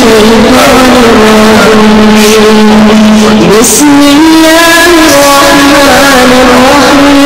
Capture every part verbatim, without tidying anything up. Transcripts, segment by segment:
الشيطان الرجيم. بسم الله الرحمن الرحيم.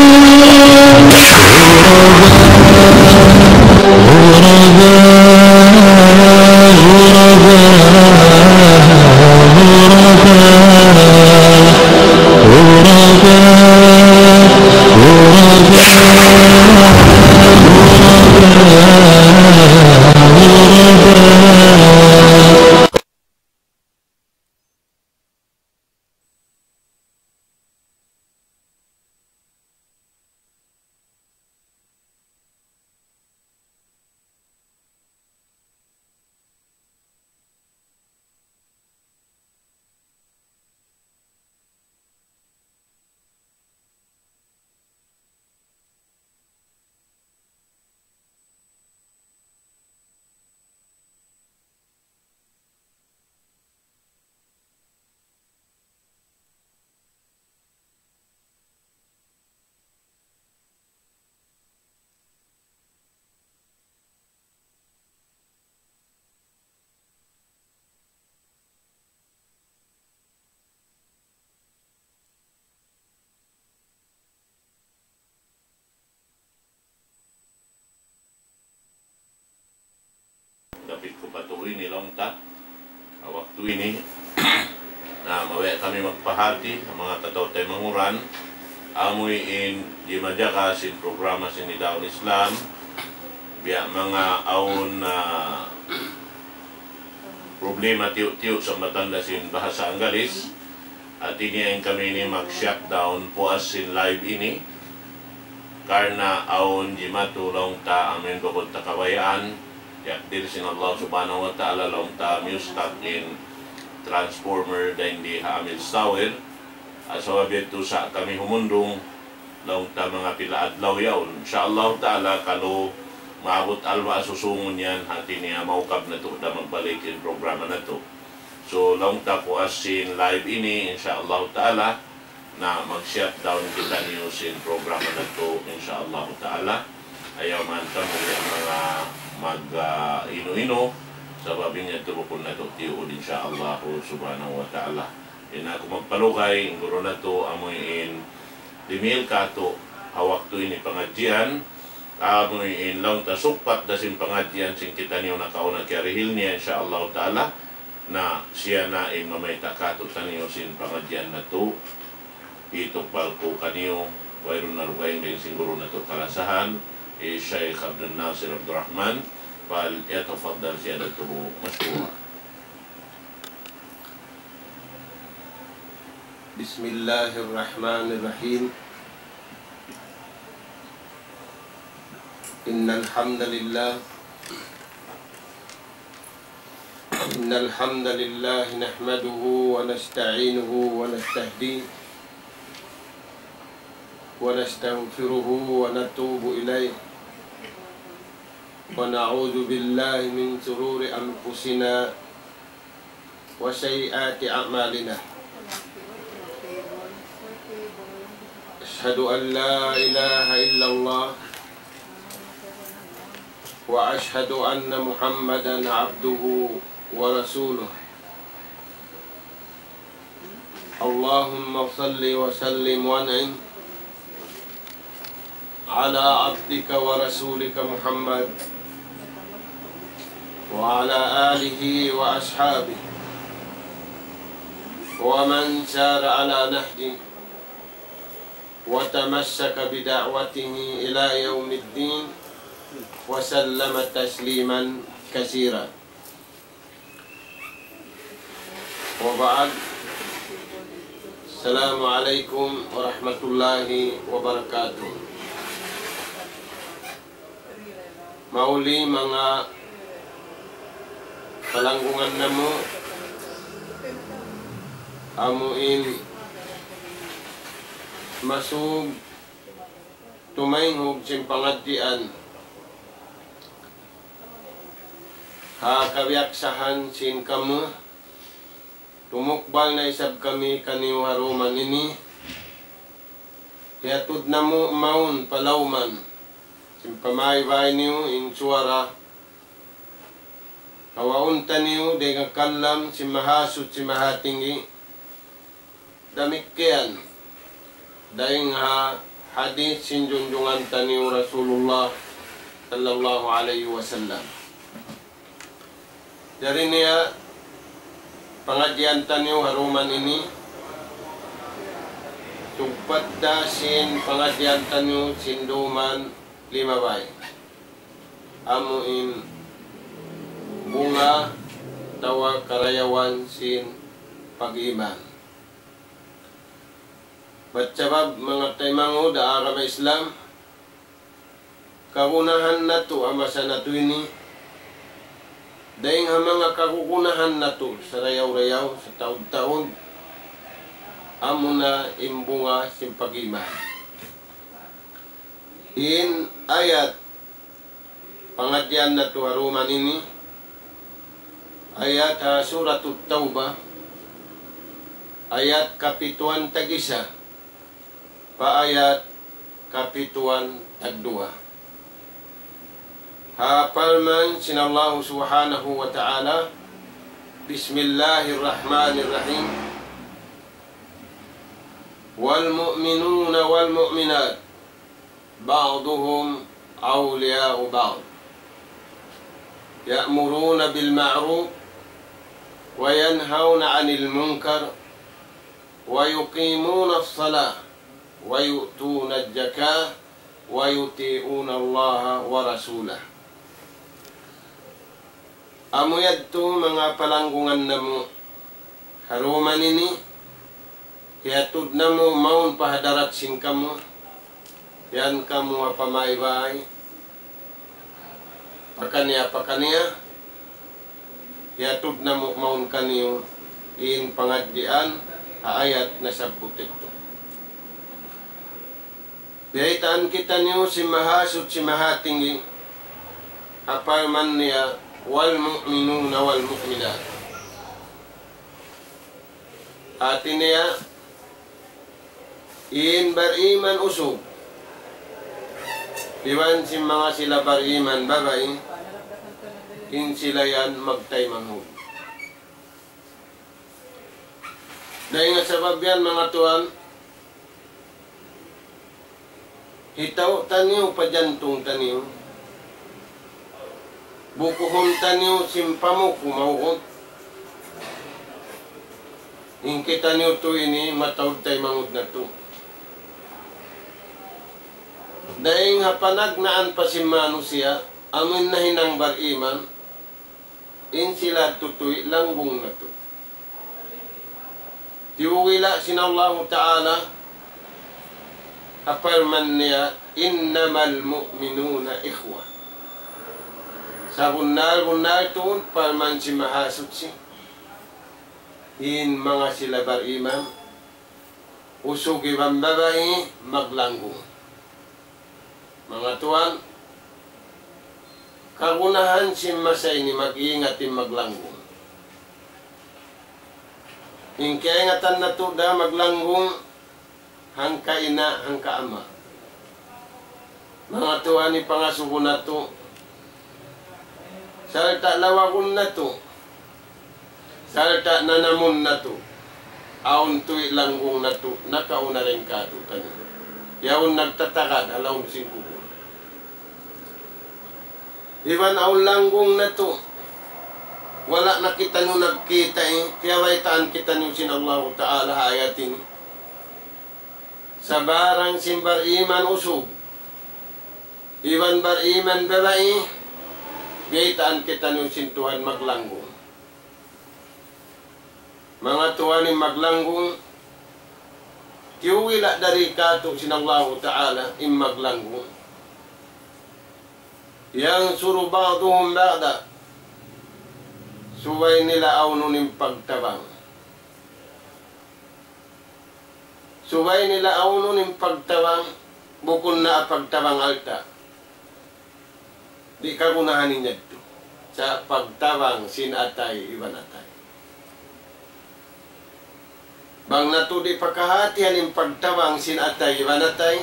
Dapit ku pa tuud ini laung ta. Ha waktu ini, na mabaya' kami magpahāti, ha manga kataw-taymanghuran, amu in di' majaga sin programa sin Nidaul Islam, biya' manga awn, ah, problema tiyu'-tiyu' sa matanda sin bahasa Anggalis, hāti niya in kami ini mag-shutdown puas sin live ini, karna' awn jimatu laung ta amin bukun ta kabayaan, takdir sin Allah Subhanahu wa Ta'ala laung ta miyustak in transformer dayn di ha Amil Tower, ha sabab yadtu sa' kami humundung, laung ta manga pila adlaw yaun. Insya Allah Ta'ala, kalu maabut alba' susungun yan, hāti niya maukab natu' da magbalik in programa natu'. So, laung ta puas sin live ini, insya Allah Ta'ala, na mag-shutdown kitaniyu sin programa natu', insya Allah Ta'ala. Ayaw man kamu yan manga mag, ah, inu-inu, sabab in yadtu bukun natu' tiyuud, insya Allah Subhanahu wa Ta'ala. Di' na aku magpalugay, in guru natu', amu in dimihil kātu' ha waktu ini pangadjian, amu in laung ta sugpat da sin pangadjian sin kitaniyu nakauna kiyarihil niya, insya Allah Ta'ala, na siya na in mamayta' kātu'niyu sin pangadjian natu', itukbal ku kaniyu, wayruun na dugaing dayn sin guru natu' kalasahan, hi Shaykh Abdul Nasir Abdul Rahman, فليتفضل سيادته مشكورا. بسم الله الرحمن الرحيم. إن الحمد لله، إن الحمد لله نحمده ونستعينه ونستهديه ونستغفره ونتوب إليه، ونعوذ بالله من شرور أنفسنا وسيئات أعمالنا. أشهد أن لا إله إلا الله، وأشهد أن محمدا عبده ورسوله. اللهم صل وسلم وأنعم على عبدك ورسولك محمد وعلى آله وأصحابه ومن سار على نهجه وتمسك بدعوته إلى يوم الدين وسلم تسليما كثيرا. وبعد، السلام عليكم ورحمة الله وبركاته. Mahuli manga palanggungan namu', amu in masug tumaynghug sin pangadjian ha kabiyaksahan sin kamu, tumukbal na isab kami kaniyu ha dum ini, hiyatud namu' mawn palawman sin pamaybay niyu in suwara Awaun taniyu dayn ha kalam sin Mahasuchi Mahatinggi, damikkiyan dayn ha hadith sin junjungan taniyu Rasulullah sallallahu alayhi wasallam. Jari niya pangadjian taniyu ha duman ini, sugpat da sin pangadjian taniyu sin duman limabay. Amu in bunga atawa karayawan sin pag-iman. Bat sabab manga taymanghud ha agama Islam, kagunahan natu' ha masa natu' ini, dayn ha manga kagunahan natu' sarayaw-rayaw, sataud-taud, amuna in bunga sin pag-iman. In ayat pangadjian natu' ha duman ini, ayat ha Suratut Tawbah, ayat kapituan tag-isa pa ayat kapituan tagduwa. Ha parman sin Allahu Subhanahu wa Ta'ala, بسم الله الرحمن الرحيم. والمؤمنون والمؤمنات بعضهم أولياء بعض يأمرون بالمعروف وينهون عن المنكر ويقيمون الصلاة ويؤتون الزكاة ويطيعون الله ورسوله. Amu yadtu manga palanggungan namu' ha duman ini, hiyatud namu' mawn pa hadarat sin kamu, yan kamu ha pamaybay, pakaniya-pakaniya, hiyatud namu' mawn kaniyu in pangadjian ha ayat nasabbut yadtu. Biyaytaan kitaniyu sin Mahasuchi Mahatinggi, ha parman niya, والمؤمنون والمؤمنات. Hati niya, in bariman usug, iban sin manga sila bariman babai, in sila yan magtaymanghud. Dayn ha sabab yan, manga tuwan, hitaw taniyu pa jantung taniyu, bukuhun taniyu sin pamuku maugut. In kitaniyu tu ini mataud taymanghud natu'. Dayn ha panagnaan pa sin manusiya', amun nahinang bariman, in sila tutuy langgung natu'. Tiyuwila sin Allahu Ta'ala, ha parman niya, إنما المؤمنون إخوة. Sabunnal-bunnal tuud, parman sin Mahasuchi, in manga sila bariman, usug iban babai, maglanggung. Manga tuwan, kagunahan sin masa ini mag-ingat in maglanggung. In kaingatan natu' da maglanggung, hangka ina', hangka ama'. Manga tuwan, in pangasubu natu', sarta' lawagun natu', sarta' nanamun natu', awn tuwi' langgung natu', nakauna dayn kātu'niyu. Yaun nagtatagad ha lawm sin kubul. Iban awn langgung natu', wala' na kitaniyu nagkita', eh, kiyabaytaan kitaniyu sin Allahu Ta'ala ha ayat ini. Sabarang sin bariman usug, iban bariman babai, biyaytaan kitaniyu sin Tuhan maglanggung. Manga tuwan, in maglanggung, tiyuwila' dari kātu' sin Allahu Ta'ala, in maglanggung. ينصر بعضهم بعضا. Subay nila awnun in pagtabang. Subay nila awnun in pagtabang, bukun na pagtabang alta'. Di' kagunahan in yadtu. Sa' pagtabang sin atay iban atay. Bang natu' di' pakahatihan in pagtabang sin atay iban atay,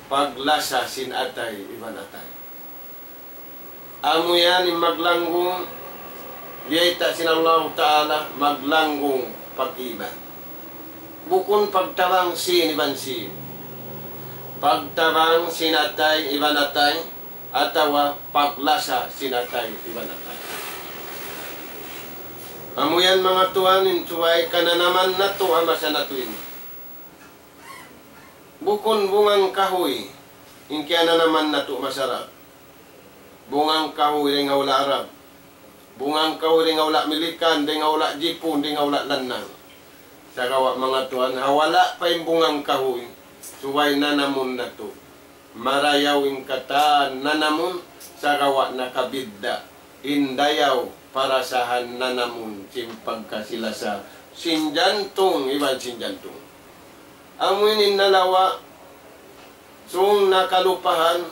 paglasa sin atay iban atay. Amu yan in maglanggung, Biyayta' sin Allahu Ta'ala maglanggung pag-iman. Bukun pagtabang sin iban sin. Pagtabang sin atay iban atay, atawa paglasa sin atay iban atay. Amu yan manga tuwan in subay kananaman natu' ha masa natu' ini. Bukun bungang kahuy in kiyananaman natu' masarap. Bungang kahuy dayn ha hula' Arab. Bungang kahuy dayn ha hula' Milikan, dayn ha hula' Jipun, dayn ha hula' Lannang. Sagawa' manga tuwan, ha wala' pa in bungang kahuy, subay nanamun natu'. Marayaw in katan nanamun, sagawa' nakabidda' in dayaw parasahan nanamun sin pagkasi-lasa sin jantung iban sin jantung. Amu ini in nalawa', sung nakalupahan,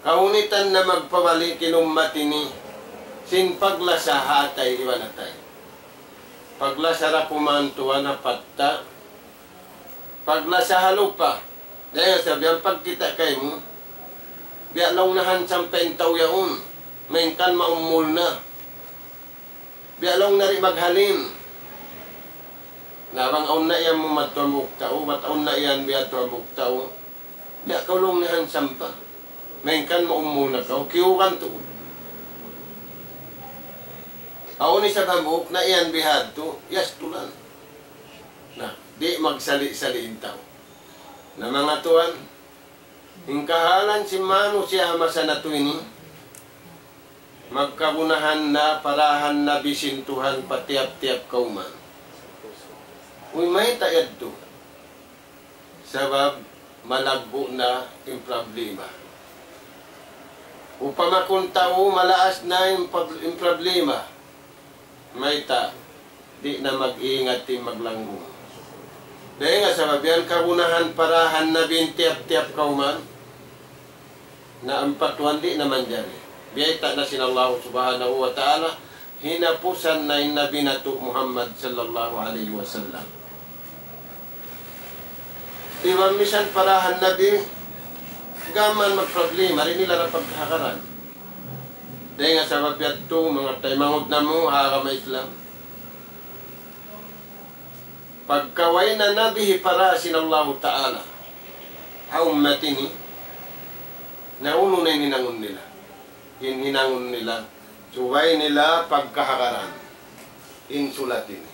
kahunitan na magpabalik in ummat ini sin paglasa ha atay iban atay. Paglasa da kuman tuwan ha patta', paglasa ha lupa. Dayn ha sabab yan pagkita' kaymu, biya' laung na handsome pa in tau yaun, malayngkan maummul na. Biya' laung na di' maghalin. Na bang awn na yan mu madtu hambuuk tau, bat awn na yan biyadtu hambuuk tau. Biya' kaw laung na handsome pa. Malayngkan maummul na kaw, kiyugan tuud. Awn isab hambuuk na yan bihadtu, yastulan. Na, di' magsali'-sali' in tau. Na manga tuwan, in kahalan sin manusiya' ha masa natu' ini, magkagunahan na, parahan na bisin Tuhan pa tiyap-tiyap kawman. Uy, mayta' yadtu? Sabab malaggu' na in problema. Upama kun tau malaas na in prob-, in problema, mayta'? Di' na mag-ingat in maglanggung. Dayn ha sabab yan kagunahan parahan na bisin tiyap-tiyap kawman, na ampa tuwan di' na manjari. Biyayta' na sin Allah Subhanahu wa Ta'ala, hinapusan na in Nabi natu' Muhammad sallallahu alayhi wasallam. Iban misan parahan Nabi, gam magproblema, di' nila da pagkahagaran. Dayn ha sabab yadtu, manga taymanghud namu' ha agama Islam, pagka way na Nabi hipara sin Allahu Ta'ala ha ummat ini, na unu na in hinangun nila? In hinangun nila, subay nila pagkahagaran in sulat ini.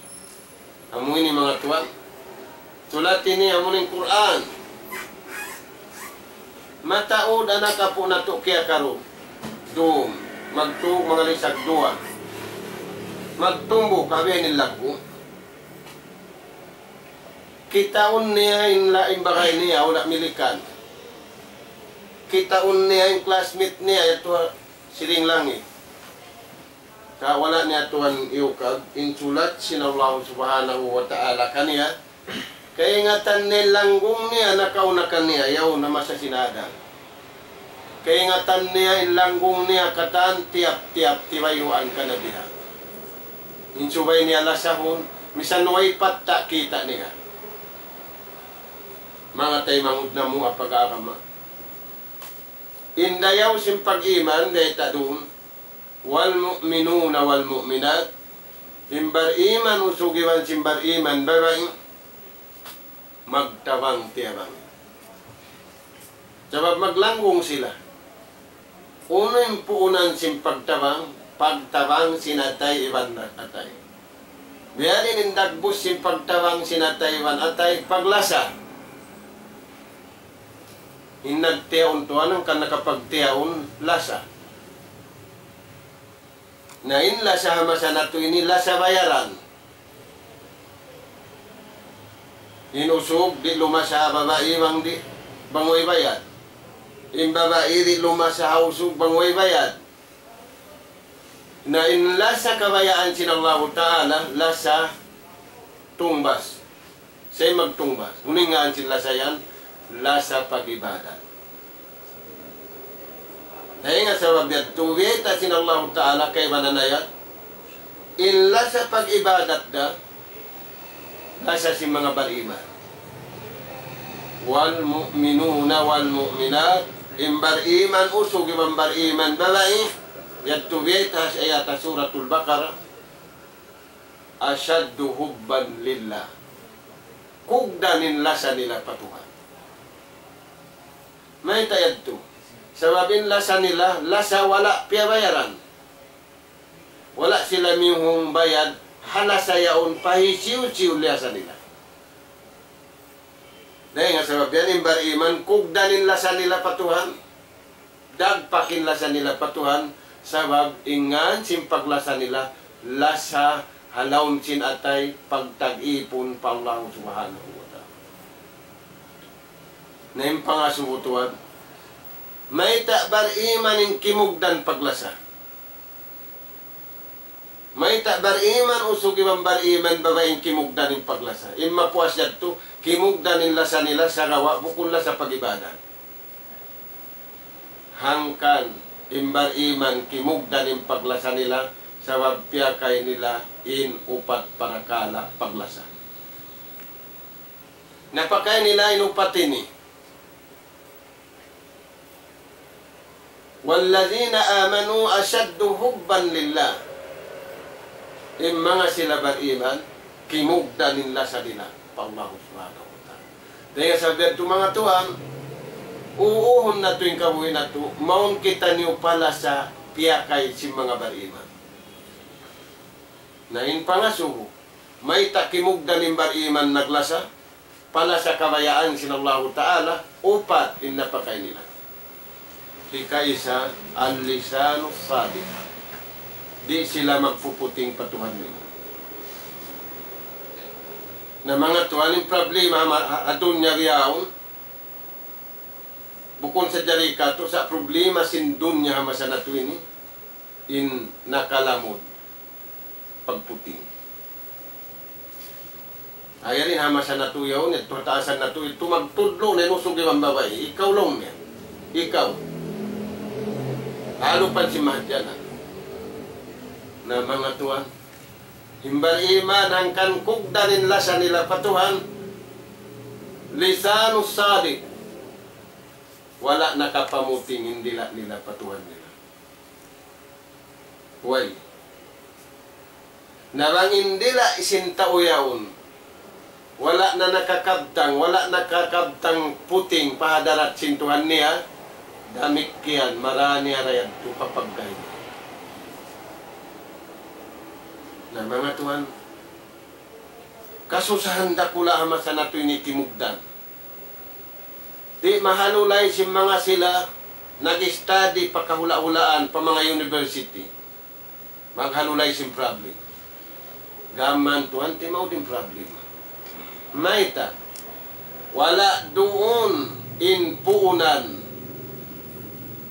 Amu ini manga tuwan. Sulat ini amu in Qur'an. Mataud anak apu' natu' kiyakaru. Dum, magtu' manga lisag duwa. Magtumbu, kabihan in laggu'. Kitaun niya in la-, in bagay niya, wala' milikan. Kitaun niya in classmate niya, yadtu ha siring langit. Sa' wala' niya tuwan iyukab, in sulat sin Allah Subhanahu wa Ta'ala kaniya, kaingatan niya in langgung niya, nakauna kaniya, yaun ha masa sin Adam. Kaingatan niya in langgung niya, katan tiyap-tiyap tibayuan kanabihan. In subay niya lasahun, misan way patta' kita' niya. Manga taymanghud namu' ha pag-agama. In dayaw sin pag-iman, dayta' duun, والمؤمنون والمؤمنات, in bar-iman usug iban sin bar-iman babai, magtabang-tiyabang. Sabab maglanggung sila. Unu in puunan sin pagtabang, pagtabang sin atay iban atay. Biya' diin in dagbus sin pagtabang sin atay iban atay, paglasa. In nagtiyaun tuwan hangkan nakapagtiyaun lasa. Na in lasa ha masa natu' ini lasa bayaran. In usug di' lumasa ha babai bang di', bang way bayad. In babai di' lumasa ha usug bang way bayad. Na in lasa kabayaan sin Allahu Ta'ala, lasa tungbas. Sa' magtungbas. Unu in ngan sin lasa yan? Lasa pag-ibadat. Dayn ha sabab yadtu, biyayta' sin Allahu Ta'ala kaibanan ayat, in lasa pag-ibadat da, lasa sin manga bar-iman. والمؤمنون والمؤمنات, in bar-iman usug iban bar-iman babai, Yadtu biyayta' ha ayat ha Suratul Baqarah, أشد حبا لله. Kugdan in lasa nila pa Tuhan. Mayta' yadtu? Sabab in lasa nila, lasa wala' piyabayaran. Wala' sila miyuhung bayad, ha lasa yaun pa hisiyu-siyu lasa nila. Dayn ha sabab yan, in bariman, kugdan in lasa nila pa Tuhan. Dagpak in lasa nila pa Tuhan, sabab in ngan sin paglasa nila, lasa ha lawm sin atay, pagtag-ipun pa Allah Subhanahu wa Ta'ala. Na in pangasubu tuwan, mayta' bariman in kimugdan paglasa? Mayta' bariman usug iban bariman babai in kimugdan in paglasa? In mapuas yadtu, kimugdan in lasa nila sagawa' bukun lasa pag-ibadat. Hangkan in bariman kimugdan in paglasa nila, sabab piyakay nila in upat parakala' paglasa. Napakay nila in upat ini. والذين آمنوا أشد حبا لله. In manga sila bariman, kimugdan in lasa nila pa Allah Subhanahu wa Ta'ala. Dayn ha sabab yadtu, manga tuwan, uuhun natu' in kabuhi' natu', mawn kitaniyu palasa piyakay sin manga bariman. Na in pangasubu, mayta' kimugdan in bariman naglasa? Palasa kabayaan sin Allahu Ta'ala, upat in napakay nila. Hikaisa, اللسان الصادق. Di' sila magpuputing pa Tuhan nila. Na manga tuwan, in problema ha, ha, ha dunya bihaun, bukun sadja di katu', sa' problema sin dunya ha masa natu' ini, in nakalamud pagputing. Ayaw in ha masa natu' yaun, yadtu ha taasan natu', yadtu magtudlu' na in usug iban babai. Ikaw laung niya. Ikaw. Alupan sin mahadjana. Na manga tuwan, in bariman hangkan kugdan in lasa nila pa Tuhan, لسان صادق. Wala' nakapamuting in dila' nila pa Tuhan nila. Way. Na bang in dila' sin tau yaun, wala' na nakakabtang, wala' nakakabtang puting pa hadarat sin Tuhan niya, damikkiyan, mara niya ra yadtu papagkay. Na manga tuwan, kasusahan dakula' ha masa natu' ini kimugdan. Di' mahalulay sin manga sila nag-study pa kahula'-hulaan pa manga university. Maghalulay sin problem. Gam man tuwan, timaud in problem. Mayta'? Wala' duun in puunan.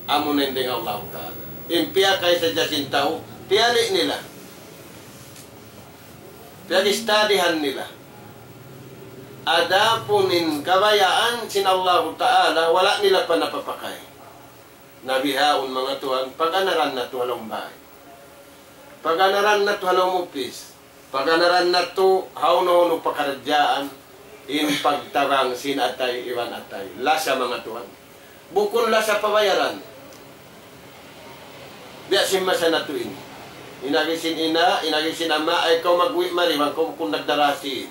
Amuna in dayn ha Allahu Ta'ala. In piyakay sadja sin tau, tiyali' nila. Piyag-studyhan nila. Adapun in kabayaan sin Allahu Ta'ala, wala' nila pa napapakay. Na bihaun manga tuwan, paganaran natu' ha lawm bay. Paganaran natu' ha lawm upis. Paganaran natu' hawnu-hawnu pakaradjaan, in pagtabang sin atay iban atay. Lasa manga tuwan. Bukun lasa pabayaran. Biya' sin masa natu' ini. In agi sin ina', in agi sin ama', ayaw kaw magwi' mari, bang kaw bukun nagdarasi.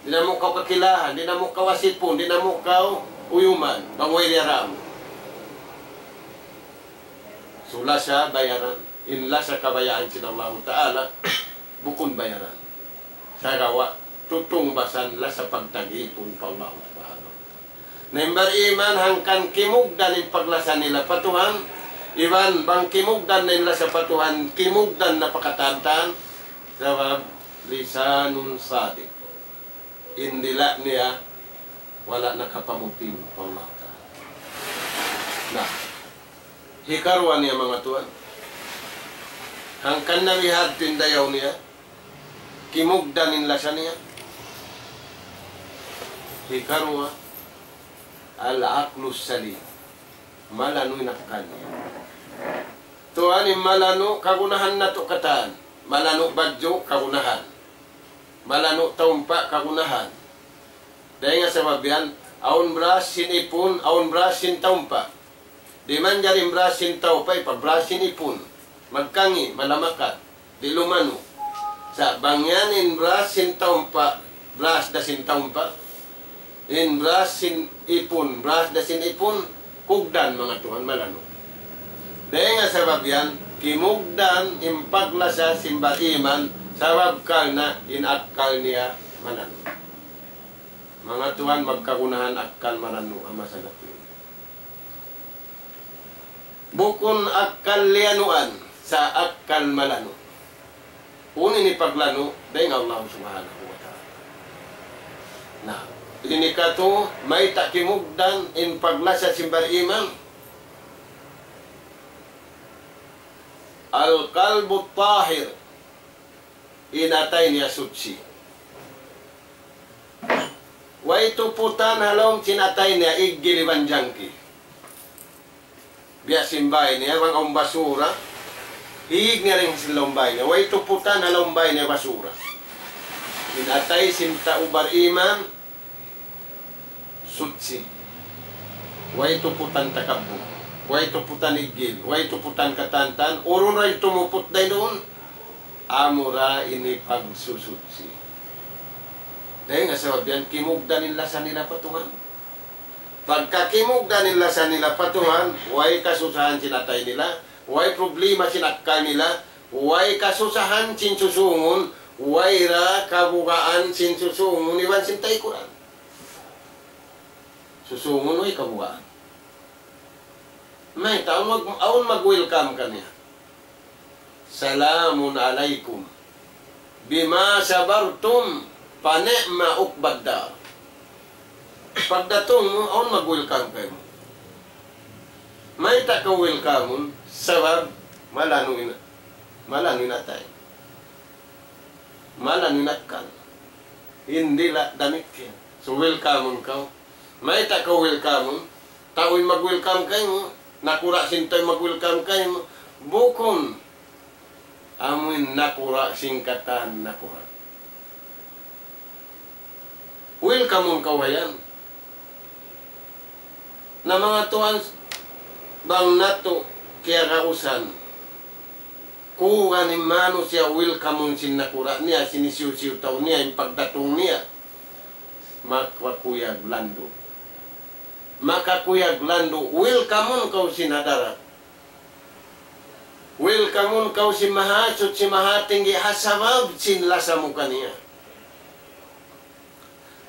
Di' na mu kaw kakilahan, di' na mu kaw asipun, di' na mu kaw uyuman, bang way diyaram. So lasa bayaran, in lasa kabayaan sin Allahu Ta'ala, bukun bayaran. Sagawa', tutungbasan lasa pagtag-ipun pa Allah Subhanahu wa Ta'ala. Na in bariman hangkan kimugdan in paglasa nila pa Tuhan, iban bang kimugdan na in lasa pa Tuhan, kimugdan na pa katan-katan, sabab lisanun sadiq. In dila' niya, wala' nakapamuting pa Allah Ta'ala. Na, hikaruwa niya manga tuwan. Hangkan na bihadtu in dayaw niya, kimugdan in lasa niya. Hikaruwa, al-aqlus salim. Malanu' in akkal niya. Tuwan in malanu' kagunahan natu' katan. Malanu' badju' kagunahan. Malanu' taumpa' kagunahan. Dayn ha sabab yan, awn brush sin ipun, awn brush sin taumpa'. Di' manjari in brush sin tau pa, ipa-brush sin ipun. Magkangi', malamakat. Di' lumanu'. Sa' bang yan in brush sin tau pa, brush da sin tau pa. In brush sin ipun, brush da sin ipun, kugdan manga tuwan malanu'. Dayn ha sabab yan, kimugdan in paglasa sin bariman, sabab karna' in akkal niya malanu'. Manga tuwan magkagunahan akkal malanu' ha masa natu'. Bukun akkal liyanuan, sa' akkal malanu'. Unu in paglanu', dayn ha Allah Subhanahu wa Ta'ala. Na, ini katu', mayta' kimugdan in paglasa sin bariman. Al-qalbu tahir, in atay niya suchi. Way tuputan ha lawm sin atay niya iggil iban jangki. Biya' sin bāy niya, bang awn basura, hiyig niya dayn sin lawm bāy niya. Way tuputan ha lawm bāy niya basura. In atay sin tau bariman, suchi. Way tuputan takabbuk. Way tuputan iggil. Way tuputan katantan. Urun ra in tumuput dayn duun. Amura ini pagsusuchi. Dayn ha sabab yan kimugdan in lasa nila pa Tuhan. Pagka kimugdan in lasa nila pa Tuhan, way kasusahan sin atay nila, way problema sin akkal nila, way kasusahan sin susungun, way ra kabugaan sin susungun, iban sin taykuran. Susungun way kabugaan. Mayta', awn mag-, awn mag-welcome kaniya. Salamun alaykum. Bima sabartum, fa ni'ma uqbad dar. Pagdatung mu, awn mag-welcome kaymu. Mayta' kaw welcome-un, sabab malanu' in, malanu' in atay. Malanu' in akkal. Hindi la damikkiyan. So, welcome-un kaw. Mayta' kaw welcome-un? Tau in mag-welcome kaymu. Nakura' sin tau in mag-welcome kaymu. Bukun. Amu in nakura' sin katan nakura'. Welcome-un kaw ha yan. Na manga tuwan, bang natu' kiyagausan, kuwan in manusiya' welcome-un sin nakura' niya, sin hisiyu-siyu tau niya, in pagdatung niya, makakuyag landu'. Makakuyag landu', welcome-un kaw sin hadarat. Welcome-un kaw sin Mahasuchi Mahatinggi ha sabab sin lasa mu kaniya.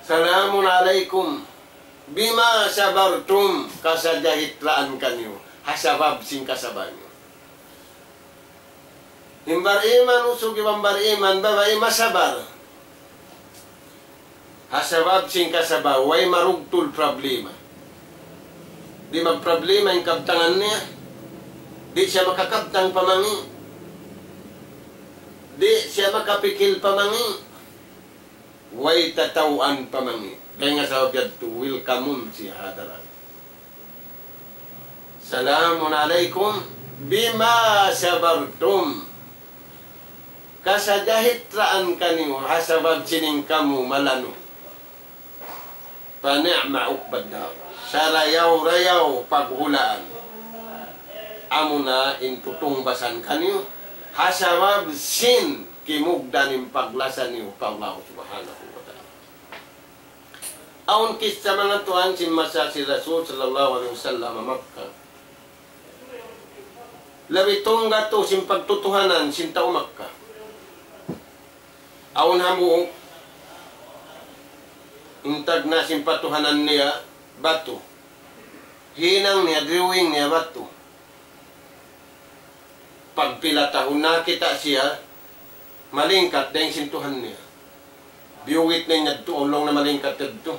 Salamun alaykum bima sabartum, kasajahitraan kaniyu ha sabab sin kasabar niyu. In bariman usug iban bariman babai masabar ha sabab sin kasabar, way marugtul problema. Di' magproblema in kabtangan niya. Di' siya makakabtang pa mangi'. Di' siya makapikil pa mangi'. Way tatawaan pa mangi'. Dayn ha sabab yadtu, welcome-un siya ha hadarat. Salamun alaykum bima sabartum. Kasajahitraan kaniyu ha sabab sin in kamu malanu'. Fa ni'ma uqbad dar. Sarayaw-rayaw paghulaan. Amuna in tutungbasan kaniyu ha sabab sin kimugdan in paglasa niyu pa Allah Subhanahu wa Ta'ala. Awn kissa manga tuwan sin masa sin Rasul sallallahu alayhi wasallam ha Makkah. Labi tungga' tuud sin pagtutuhanan sin tau Makkah. Awn hambuuk, in tagna' sin patuhanan niya batu. Hinang niya, drawing niya batu. Pagpila tahun nakakita' siya, malingkat dayn sin Tuhan niya. Biyugit na in yadtu, laung niya malingkat yadtu.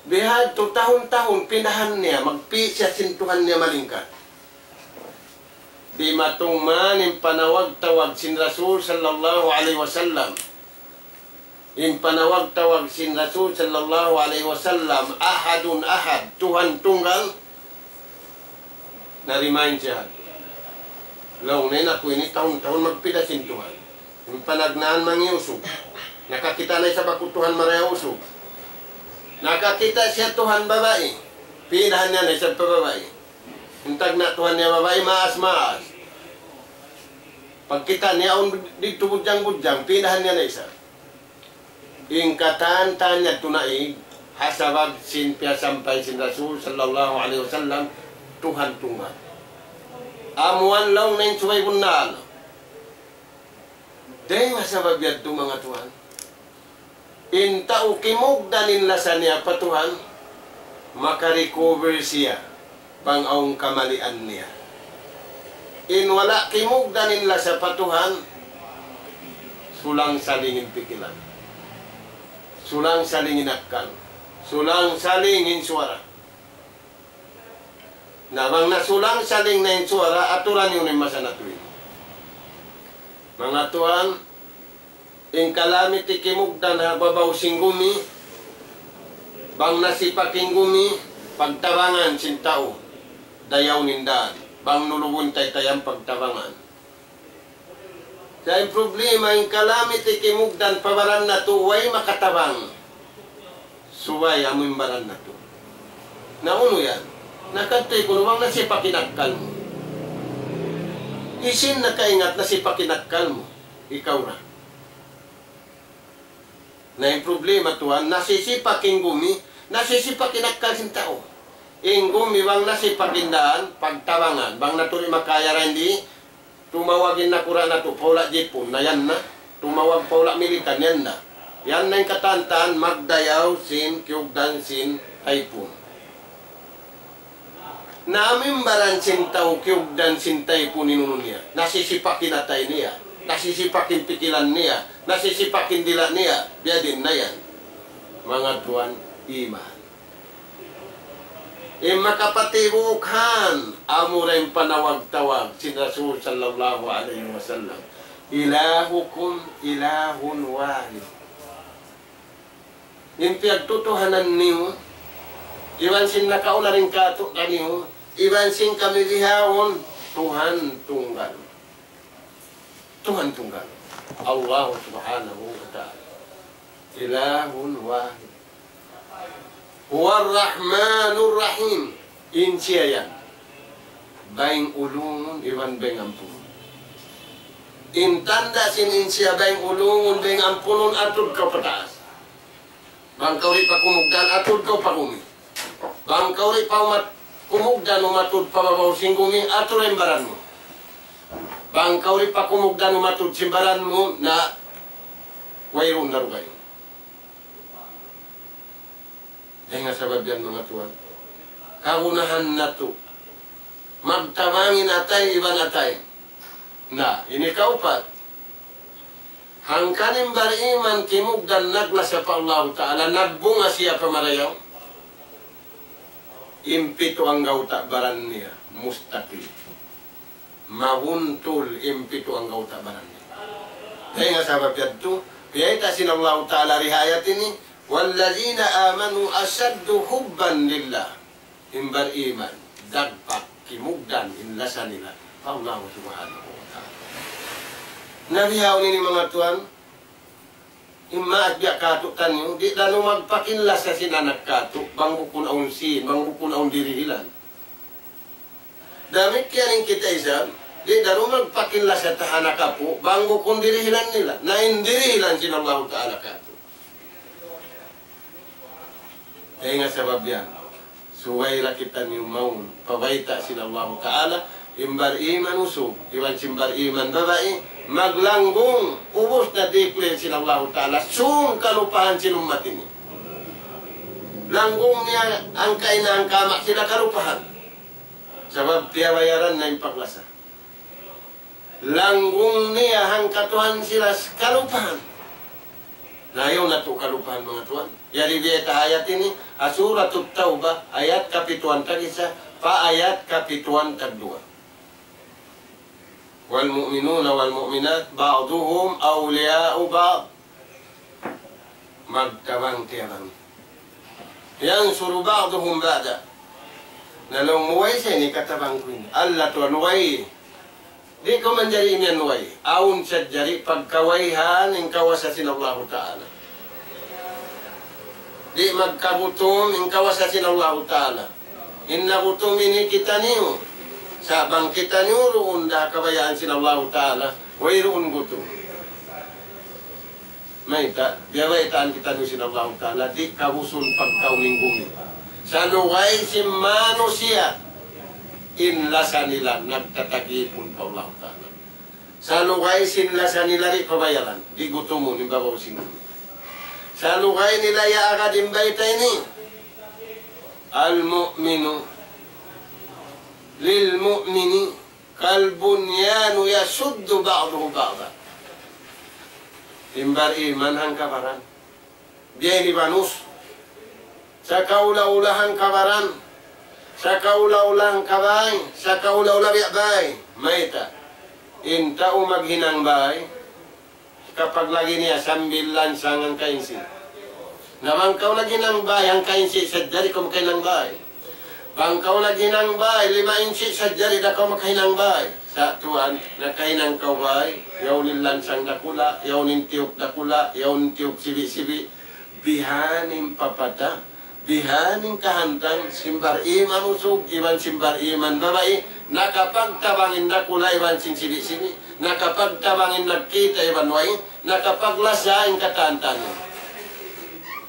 Bihadtu tahun-tahun pinahan niya, magpi' siya sin Tuhan niya malingkat. Dimatung man in panawag-tawag sin Rasul sallallahu alayhi wasallam. In panawag-tawag sin Rasul sallallahu alayhi wasallam, ahadun ahad, Tuhan tunggal, na-remind siya. Laung niya, aku ini tahun-tahun magpida sin Tuhan. In panagnaan mangi' usug. Nakakita' na isab aku Tuhan marayaw usug. Nakakita' siya Tuhan babai. Pidahan niya na isab pa babai. In tagna' tuhan niya babai maas-maas. Pagkita' niya awn didtu budjang-budjang, pīnahan niya na isab. In katan-katan niya tuud naig, ha sabab sin piyasampay sin Rasul sallallahu alayhi wasallam, Tuhan tunggal. Amu yan laung niya in subay bunnal. Dayn ha sabab yadtu manga tuwan. In tau kimugdan in lasa niya pa Tuhan, maka-recover siya bang awn kamalian niya. In wala' kimugdan in lasa pa Tuhan, sulang-saling in pikilan. Sulang-saling in akkal. Sulang-saling in suwara. Na bang nasulang-saling na in suwara, aturan niyu in masa natu' ini. Manga tuwan, in kalamiti kimugdan ha babaw sin gumi, bang nasipak in gumi, pagtabangan sin tau, dayaw in dān, bang nulubun taytayan pagtabangan. Sa' in problema, in kalamiti kimugdan pa baran natu', way makatabang. Subay amu in baran natu'. Na unu yan? Na kadtu kunu' bang nasipak in akkal mu. Hisiyu in nakaingat nasipak in akkal mu? Ikaw ra. Na in problema tuwan, nasisipak in gumi, nasisipak in akkal sin tau. In gumi bang nasipak in dān, pagtabangan, bang natu' di' makaya ra in di', tumawag in nakura' natu' pa hula' Jipun, na yan na. Tumawag pa hula' Milikan, yan na. Yan na in katan-katan magdayaw sin kiyugdan sin taypun. Na amu in baran sin tau kiyugdan sin taypun in unu niya. Nasisipak in atay niya. Nasisipak in pikilan niya. Nasisipak in dila' niya. Biya' diin na yan. Manga tuwan, iman. In makapatibuk han, amura in panawag-tawag sin Rasul sallallahu alayhi wasallam. إلهكم إله واحد. In piyagtutuhanan niyu, iban sin nakauna dayn kātu'niyu, iban sin kami bihaun, Tuhan tunggal. Tuhan tunggal. Allah subhanahu wa ta'ala. إله واحد. هو الرحمن الرحيم. In siya yan. Bayng ulungun iban bayng ampunun. In tanda' sin in siya bayng ulungun, bayng ampunun, atud kaw pataas. Bang kaw di' pa kumugdan, atud kaw pa gumi. Bang kaw di' pa umat-, kumugdan umatud pa babaw sin gumi, atud in baran mu. Bang kaw di' pa kumugdan umatud sin baran mu, na wayruun na dugaing. Dayn ha sabab yan, manga tuwan, kagunahan natu' magtabang in atay iban atay. Na, ini kaupat. Hangkan in bariman kimugdan naglasa pa Allahu Ta'ala, nagbunga siya pa marayaw. In pitu anggawta' baran niya, mustaqim. Mabuntul in pitu anggawta' baran niya. Dayn ha sabab yadtu, biyayta' sin Allahu Ta'ala dii ha ayat ini, والذين آمنوا أشد حبا لله. In bariman, dagpak, kimugdan in lasa nila pa Allah subhanahu wa ta'ala. Na bihaun ini, manga tuwan, in maas biya' kātu'niyu, di' da lumagpak in lasa sin anak kātu', bang bukun awn sīn, bang bukun awn dirihilan. Damikkiyan in kita isab, di' da lumagpak in lasa ta ha anak apu', bang bukun dirihilan nila. Na in dirihilan sin Allahu Ta'ala kātu'. Dayn ha sabab yan, subay da kitaniyu mawn pa bayta' sin Allahu Ta'ala, in bariman usug, iban sin bariman babai, maglanggung, ubus na declare sin Allahu Ta'ala, sūng kalupahan sin ummat ini. Langgung niya hangka ina' hangka ama' sila kalupahan. Sabab piyabayaran na in paglasa. Langgung niya hangka Tuhan sila kalupahan. Na ayaw natu' kalupahan, manga tuwan. Yari biyayta' ayat ini, ha Suratut Tawbah, ayat kapituan tag-isa, pa ayat kapituan tagduwa. والمؤمنون والمؤمنات بعضهم أولياء بعض. Magtabang-tiyabangi. ينصر بعضهم بعضا. Na laung mu, way sa ini katabang ku ini. Allah tuwan, way. Di' kaw manjari imiyan way. Awn sadja di' pagkawayhan in kawasa sin Allahu Ta'ala. Di' magkagutum in kawasa sin Allahu Ta'ala. In nagutum ini kitaniyu. Sa' bang kitaniyu duun da kabayaan sin Allahu Ta'ala, wayruun gutu. Mayta', biyabaytaan kitaniyu sin Allahu Ta'ala, di' kabusun pagkaun in gumi. Sa' lugay sin manusiya', in lasa nila nagtatagipun pa Allahu Ta'ala. Sa' lugay sin lasa nila di' pabayalan, di' gutumun in babaw sin gumi. Sa' lugay nila yaagad in bayta' ini. المؤمن للمؤمن كالبنيان يشد بعضه بعضا. In bariman hangka baran. Biya' ini banus. Sakaula-ula hangka baran. Sakaula-ula hangka bay. Sakaula-ula biya' bay. Mayta'. In tau maghinang bay. Kapag lagi niya sambil lansang hangka insi. Na bang kaw naghinang bay, hangka insi sadja di' kaw makahinang bay. Bang kaw naghinang bay, lima insi sadja di' da kaw makahinang bay. Sa' tuwan, nakahinang kaw bay, yaun in lansang dakula', yaun in tiyuk dakula', yaun in tiyuk sibi'-sibi'. Bihan in papata. Bihan in kahantang sin bariman usug iban sin bariman babai, nakapagtabang in dakula' iban sin sibi'-sibi', nakapagtabang in nagkita' iban way, nakapaglasa in katan-katan.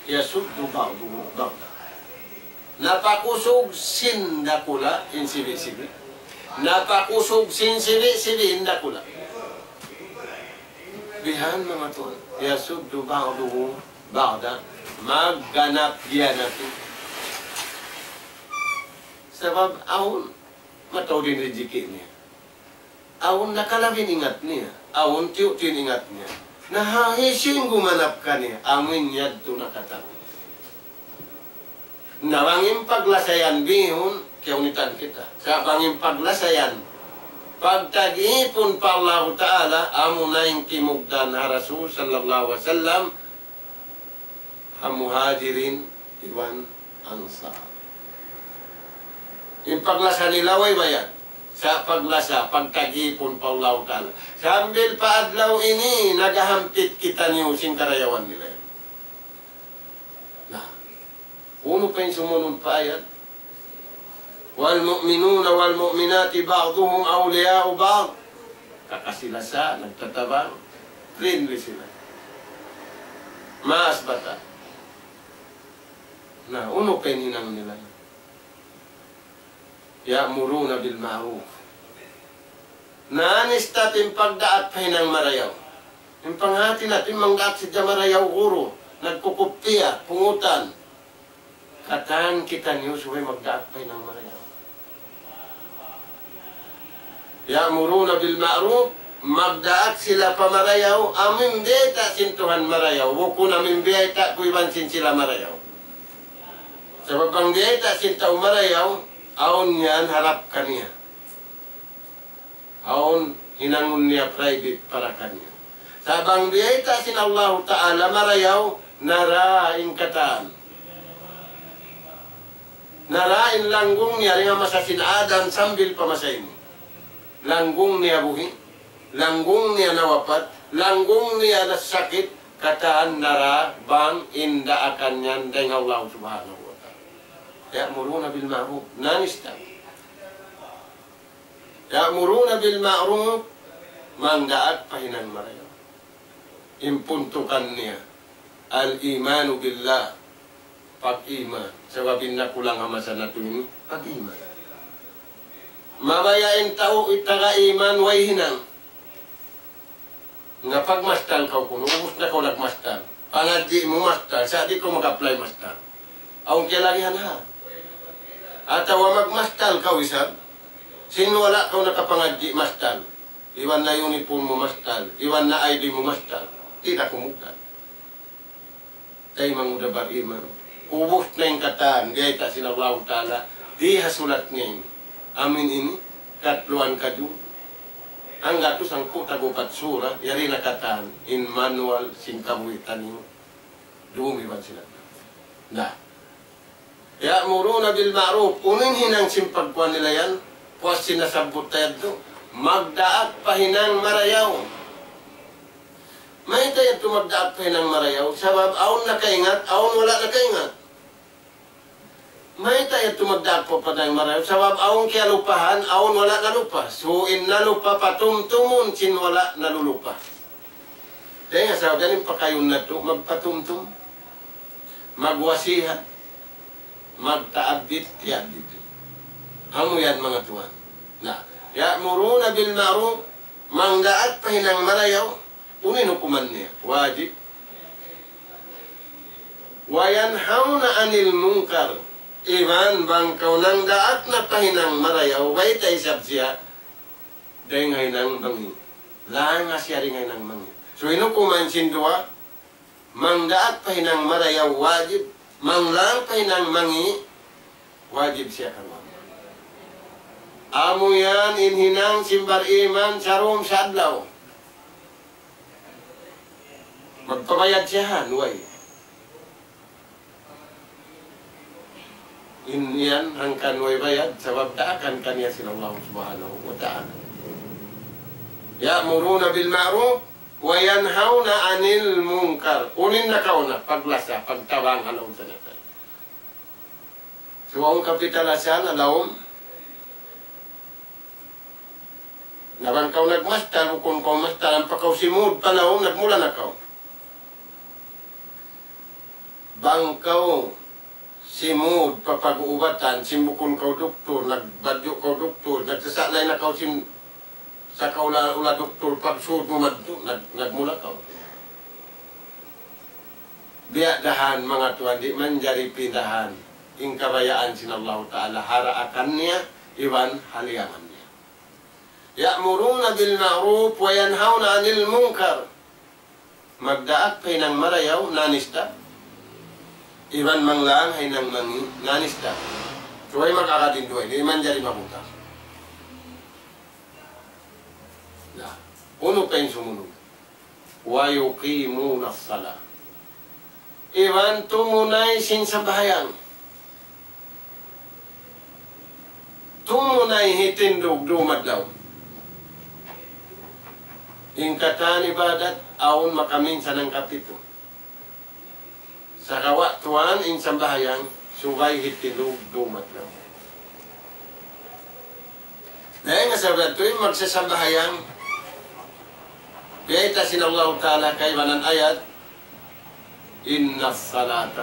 يشد بعضه بعضا. Napakusug sin dakula' in sibi'-sibi'. Napakusug sin sibi'-sibi' in dakula'. Bihan manga tuwan. يشد بعضه بعضا. Magganap-ganap. Sabab awn mataud in rijiki' niya. Awn nakalabi in ingat niya. Awn tiyu'-tiyu' in ingat niya. Na ha hisiyu in gumanap kaniya. Amu in yadtu nakatau. Na bang in paglasayan bihun, kiyunitan kita. Sa' bang in paglasayan, pagtagipun pa Allahu Ta'ala, amu na in kimugdan ha Rasul sallallahu alayhi wasallam, ha Muhajirin iban Ansar. In paglasa nila way bayad. Sa' paglasa, pagtagipun pa Allahu Ta'ala. Sambil pa adlaw ini, nagahampit kitaniyu sin karayawan nila. Na, unu pa in sumunud pa ayat? والمؤمنون والمؤمنات بعضهم أولياء بعض. Kakasi-lasa, nagtatabang, friendly sila. Maas bata'. Na, unu pa in hinang nila? يأمرون بالمعروف. Na, nista' in pagdaak pa hinang marayaw. In panghati natu' in mangdaak sadja marayaw, guru, nagkukupiya, pungutan. Katan kitaniyu subay magdaak pa hinang marayaw. يأمرون بالمعروف, magdaak sila pa marayaw, amu in biyayta' sin Tuhan marayaw, bukun amu in biyayta' ku iban sin sila marayaw. Sabab bang biyayta' sin tau marayaw, awn yan harap kaniya. Awn hinangun niya private para kaniya. Sa' bang biyayta' sin Allahu Ta'ala marayaw, nara in katan. Nara in langgung niya dayn ha masa sin Adam sambil pa masa ini. Langgung niya buhi', langgung niya nawapat, langgung niya nasakit, katan nara bang in daakan yan dayn ha Allah Subhanahu wa Ta'ala. يأمرون بالمعروف, nanista. يأمرون بالمعروف, mangdaak pa hinang marayaw. In puntukan niya, الإيمان بالله, pag-iman. Sabab in nakulang ha masa natu' ini, pag-iman. Mabaya' in tau taga iman way hinang. Na pagmastal kaw kunu', ubus na kaw nagmastal. Pangadji' mu mastal, sa' di' kaw mag-apply mastal. Awn kiyalagihan ha. Atawa magmastal kaw isab, sin wala' kaw nakapangadji' mastal. Iban na uniform mu mastal, iban na I D mu mastal. Di' da kumugdan. Taymanghud ha bariman. Ubus na in katan, biyayta' sin Allahu Ta'ala, di ha sulat niya ini. Amu in ini, katluan kajuz. Hanggatus hangpu' tag-upat sura, yari na katan, in manual sin kabuhi' taniyu. Dum iban sila. Na. يأمرون بالمعروف. Unu in hinang sin pagkuan nila yan? Puas sin nasabbut ta yadtu. Magdaak pa hinang marayaw. Mayta' yadtu magdaak pa hinang marayaw? Sabab awn nakaingat, awn wala' nakaingat. Mayta' yadtu magdaak pa panaw marayaw? Sabab awn kiyalupahan, awn wala' nalupa. So, in nalupa patumtumun sin wala' nalulupa. Dayn ha sabab yan in pakayun natu', magpatumtum, magwasihat, magtaabbit, tiyabbit. Amu yan manga tuwan. Na, يأمرون بالمعروف, mangdaak pa hinang marayaw, unu in hukuman niya? Wajib. وينهون عن المنكر. Iban bang kaw nangdaak na pa hinang marayaw, bayta' isab siya dayn ha hinang mangi'. Langa siya dayn ha hinang mangi'. So, in hukuman sin duwa, mangdaak pa hinang marayaw wajib, manglang pa hinang mangi' wajib siya karuwa. Amu yan in hinang sin bar-iman sarum sa adlaw. Magpabayad siya ha nuway. In yan hangkan way bayad, sabab daakan kaniya sin Allah Subhanahu wa Ta'ala. يأمرون بالمعروف وينهون عن المنكر. Unu in nakauna, paglasa, pagtabang ha lawm tanatay. So, awn kapital-asahan ha lawm, na bang kaw nagmastal, bukun kaw mastal, ampa kaw simud pa lawm, nagmula na kaw. Bang kaw simud pa pag-uubatan, sin bukun kaw duktur, nagbadju' kaw duktur, nagsasa'lay na kaw sin sakaula-ula duktur, pagsud mu madtu, nag-, nagmula kaw. Biya' dahan manga tuwan, di' manjari pindahan in kabayaan sin Allahu Ta'ala ha daakan niya, iban ha liyangan niya. يأمرون بالمعروف وينهون عن المنكر. Magdaak pa hinang marayaw, non-stop. Iban manglang hinang mangi', non-stop. Subay mag-agad in duwa ini, di' manjari mabuta'. Na, unu pa in sumunud? ويقيمون الصلاة. Iban tumunay sin sambahayang. Tumunay hitindug dum adlaw. In katan ibadat, awn makaminsan hangkapitu. Sagawa' tuwan in sambahayang, subay hitindug dum adlaw. Dayn ha sabab yadtu in magsasambahayang, biyayta' sin Allahu Ta'ala kaibanan ayat, إن الصلاة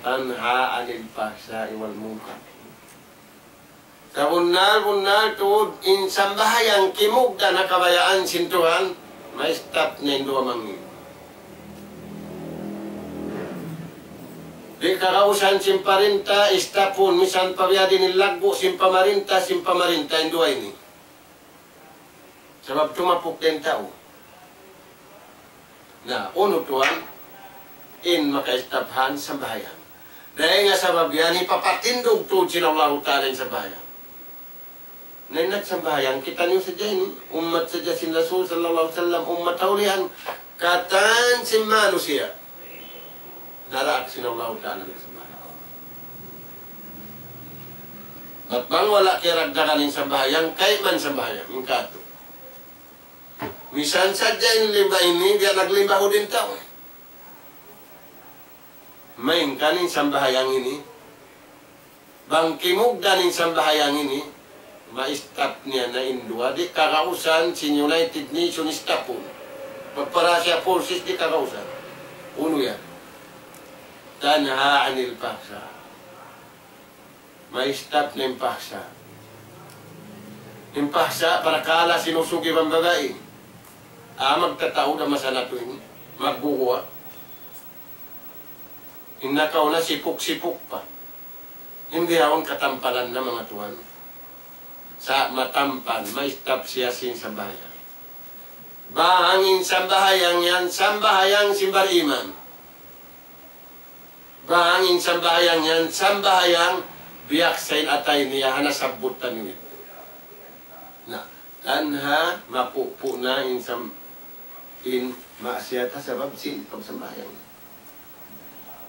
تنهى عن الفحشاء والمنكر. Sabunnal-bunnal tuud in sambahayang kimugdan ha kabayaan sin Tuhan, ma-stop niya in duwa mangi'. Di' kagausan sin parinta, stopun, misan pa biya' diin in laggu' sin pamarinta, sin pamarinta, in duwa ini. Sabab tumapuk da in tau. Na, unu tuwan, in maka-stop ha sambahayang. Dayn ha sabab yan, hipapatindug tuud sin Allahu Ta'ala in sambahayang. Na in nagsambahayang, kitaniyu sadja ini, ummat sadja sin Rasul sallallahu alayhi wasallam, ummat ha ulihan, katan sin manusiya'. Daraak sin Allahu Ta'ala nagsambahayang. Bat bang wala' kiyaragdagan in sambahayang, kayman sambahayang, in katu'. Misan sadja in limba ini, biya' naglimba hud in tau. Malayngkan in sambahayang ini, bang kimugdan in sambahayang ini, ma-stop niya na in duwa, di' kagausan sin United Nations stopun. Pagparasya forces di' kagausan. Unu yan? تنهى عن الفحشاء. Ma-stop na in pahsa. In pahsa, parakala' sin usug iban babai. Ah, magtataud ha masa natu' ini. Magguguwa'. In nakauna sipuk-sipuk pa. Di' bihaun katampalan na manga tuwan. Sa' matampan, ma-stop siya sin sambahayang. Bang in sambahayang yan, sambahayang sin bariman. Bang in sambahayang yan, sambahayang biya' sa in atay niya, ha nasabbut taniyu. Na, tanha, mapupu' na in sam-, in maksiyat ha sabab sin pagsambahayang.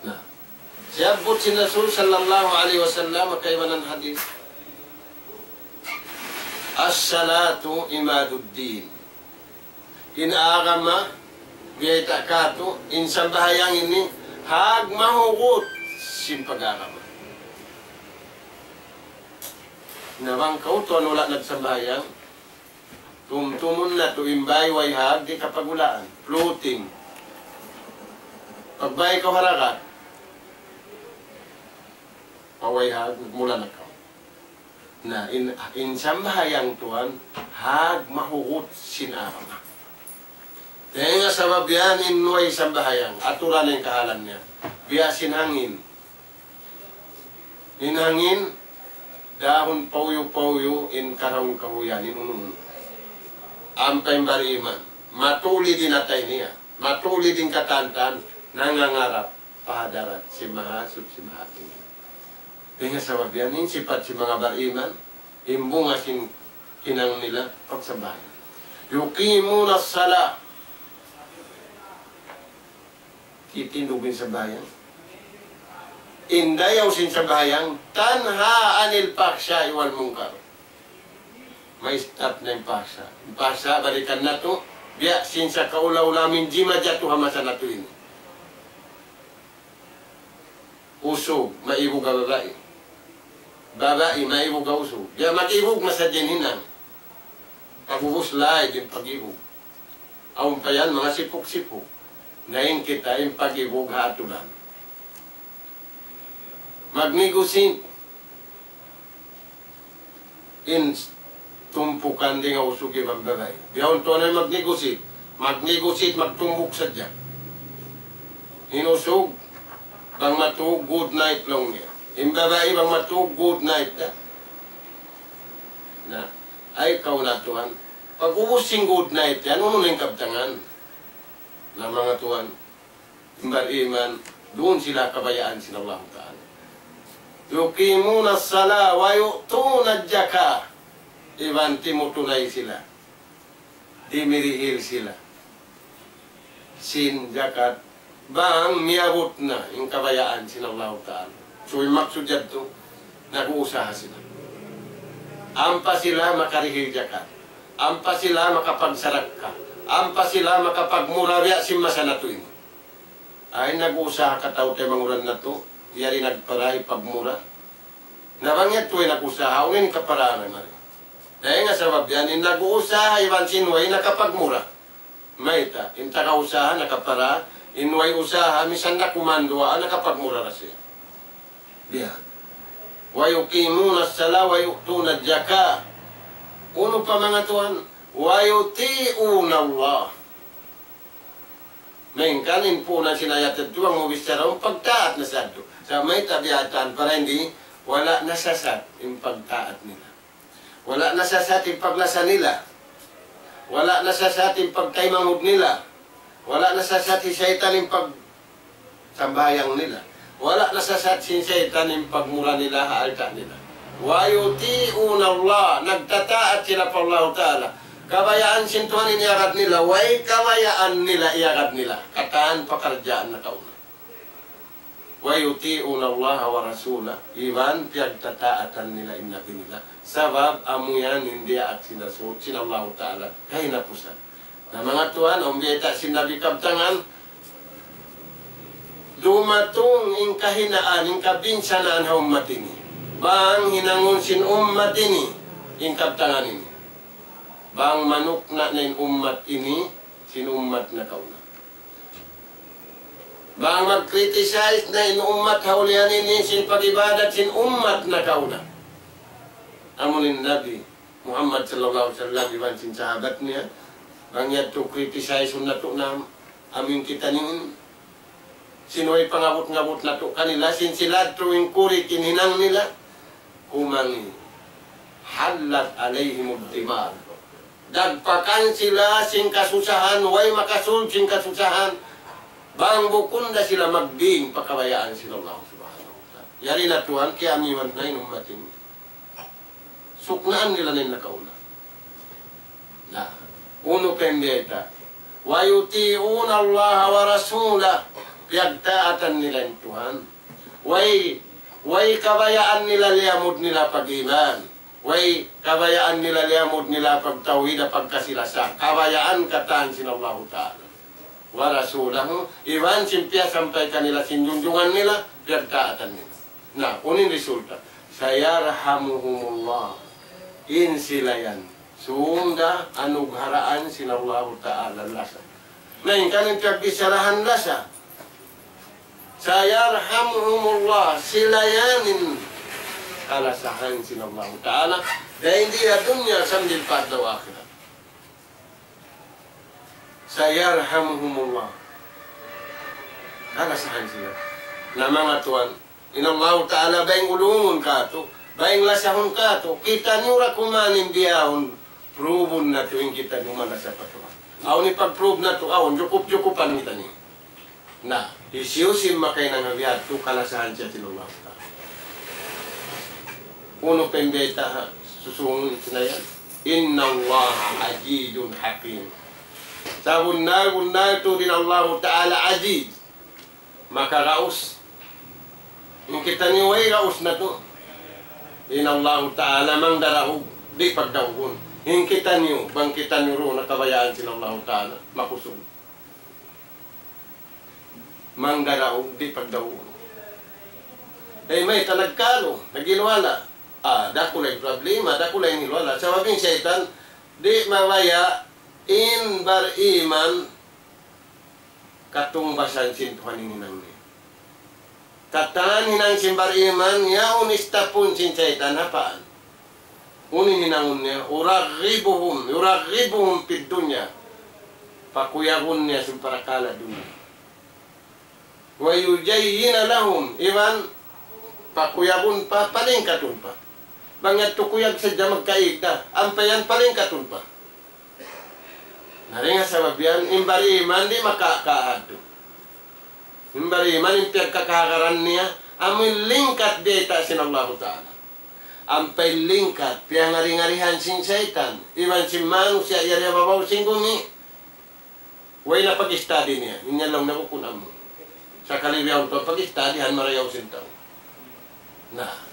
Na, siyabbut sin Rasul sallallahu alayhi wasallam, kaibanan hadith. الصلاة عماد الدين. In agama, biyayta' katu', in sambahayang ini, hag mahugut sin pag-agama. Na bang kaw tuwan wala' nagsambahayang, tumtumun natu' in bāy way hag di' kapagulaan. Floating. Pagbāy kaw ha dagat, pa way hag, mula na kaw. Na in, in sambahayang tuwan, hag mahugut sin agama. Dayn ha sabab yan in way sambahayang, aturan in kahalan niya. Biya' sin hangin. In hangin, dahun pauyu-pauyu, in karaung kahuyan, in unu-unu. Ampa in bariman, matulid in atay niya, matulid in katantan, nangangarap pa hadarat sin Mahasuchi Mahatinggi. Dayn ha sabab yan, in sipat sin manga bariman, in bunga sin hinang nila, pagsambahayang. يقيمون الصلاة. Titindug in sambahayang. In dayaw sin sambahayang, تنهى عن الفحشاء والمنكر. May stop na in fahsha. In fahsha, balikan natu', biya' sin sakaula-ula amin jimajatu ha masa natu' ini. Usug, maibug ha babai. Babai, maibug ha usug. Biya' mag-ibug na sadja in hinang. Pag'ubus laig in pag-ibug. Awn pa yan, manga sipuk-sipuk. Na in kita in pag-ibug ha aturan. Mag-negotiate in tumpukan dayn ha usug iban babai. Bihaun tuwan na mag-negotiate. Mag-negotiate, magtumbuk sadja. In usug, bang matug, good night laung niya. In babai, bang matug, good night da. Na, ay kaw na tuwan. Pag'ubus sin good night yan, unu na in kabtangan? Na manga tuwan, in bariman, duun sila kabayaan sin Allahu Ta'ala. يقيمون الصلاة ويؤتون الزكاة. Iban timutunay sila. Dimirihil sila sin jakat. Bang miyabut na in kabayaan sin Allahu Ta'ala. So, in maksud yadtu, nag-uusaha sila. Ampa sila makarihil jakat. Ampa sila makapagsarakka. Ampa sila makapagmura biya' sin masa natu' ini. Ay, nag-uusaha kataw-taymanghuran natu', yari nagpara hipagmura. Na bang yadtu way nag-usaha, unu in kaparaan mari? Dayn ha sabab yan, in nag-uusaha iban sin way nakapagmura. Mayta', in taga-usaha nakapara, in way usaha, misan da kuman duwaa, nakapagmura da siya. Biya'. ويقيمون الصلاة ويؤتون الزكاة. Unu pa manga tuwan? ويطيعون الله. Malayngkan in puunan sin ayat yadtu, bang mu bichara, in pagtaat na sadtu. Sa' mayta' biya' hāti, para di' wala' nasasat in pagtaat nila. Wala' nasasat in paglasa nila. Wala' nasasat in pagtaymanghud nila. Wala' nasasat hi saytan in pagsambahayang nila. Wala' nasasat sin saytan in pagmura nila ha alta' nila. ويطيعون الله, nagtataat sila pa Allahu Ta'ala. Kabayaan sin Tuhan in iyagad nila, way kabayaan nila iyagad nila. Katan pakaradjaan nakauna. ويطيعون الله ورسوله, iban piyagtataatan nila in Nabi nila. Sabab amu yan in diyaak sin Rasul, sin Allahu Ta'ala, kahinapusan. Na manga tuwan, awn biyayta' sin Nabi kabtangan, dumatung in kahinaan, in kabinsanaan ha ummat ini. Bang hinangun sin ummat ini, in kabtangan ini. Bang manukna' na in ummat ini, sin ummat nakauna. Bang mag-criticize na in ummat ha ulihan ini sin pag-ibadat sin ummat nakauna. Amu in Nabi Muhammad sallallahu alayhi wasallam iban sin sahabat niya, bang yadtu criticize natu' na amu in kita niya, sin way pangabut-ngabut natu' kanila, sin sila yadtu in kuri' in hinang nila, kumangi'. حلت عليهم الدمار. Dagpakan sila sin kasusahan, way makasud sin kasusahan. Bang bukun da sila magbing pa kabayaan sin Allah Subhanahu wa Ta'ala. Yari na tuwan, kiyamiwan na in ummat ini. Suknaan nila na in nakauna. Na, unu pa in biyayta'? ويطيعون الله ورسوله. Piyagtaatan nila in Tuhan. Way, way kabayaan nila liyamud nila pag-iman. Way kabayaan nila liyamud nila pagtawhid, pagkasi-lasa. Kabayaan katan sin Allahu Ta'ala. ورسوله, iban sin piyasampay kanila sin junjungan nila, piyagtaatan nila. Na, unu in resulta? سيرحمهم الله. In sila yan, sunda anugharaan sin Allahu Ta'ala lasa. Na in kaniyu piyagbissarahan lasa. سيرحمهم الله, sila yan in kalasahan sin Allahu Ta'ala. Dayn di ha dunya sambil pa adlaw akhirat. سيرحمهم الله. Kalasahan sila. Na manga tuwan, in Allahu Ta'ala bang ulungun katu', bang lasahun katu', kitaniyu ra kuman in bihaun, prove-un natu' in kitaniyu malasa pa Tuhan. Awn hipag-prove natu', awn, jukup-jukupan kitaniyu. Na, hisiyu-siyu in makahinang ha biya' hādtu, kalasahan siya sin Allahu Ta'ala. Unu pa in bayta' ha susūngun sin ayat? إن الله عزيز حكيم. Sabunnal-bunnal tuud in Allahu Ta'ala aziz, makaraus. In kitaniyu way raus natu'. In Allahu Ta'ala mangdaraug, di' pagdaugun. In kitaniyu, bang kitaniyu duun ha kabayaan sin Allahu Ta'ala, makusug. Mangdaraug, di' pagdaugun. Ay, mayta' nagkalu, naghiluhala'. Ah, dakula' in problema, dakula' in hiluhala'. Sabab in saytan, di' mabaya' in bariman katungbasan sin Tuhan in hinang niya. Katan hinang sin bariman, yaun istapun sin saytan, apaan? Unu in hinangun niya? يرغبهم، يرغبهم في الدنيا. Pakuyagun niya sin parakala' dunya. ويزين لهم, iban pakuyagun pa, palingkatun pa. Bang yadtu kuyag sadja magkaig da, ampa yan palingkatun pa. Na dayn ha sabab yan, in bariman di' makakaadtu. In bariman in piyagkakahagaran niya, amu in lingkat biyayta' sin Allahu Ta'ala. Ampa in lingkat, piyangari-ngarihan sin saytan, iban sin manusiya' yari ha babaw sin gumi. Way na pag-study niya, in yan laung niya bukun amu. Sakali biya' unta pag-study, han marayaw sin tau. Na,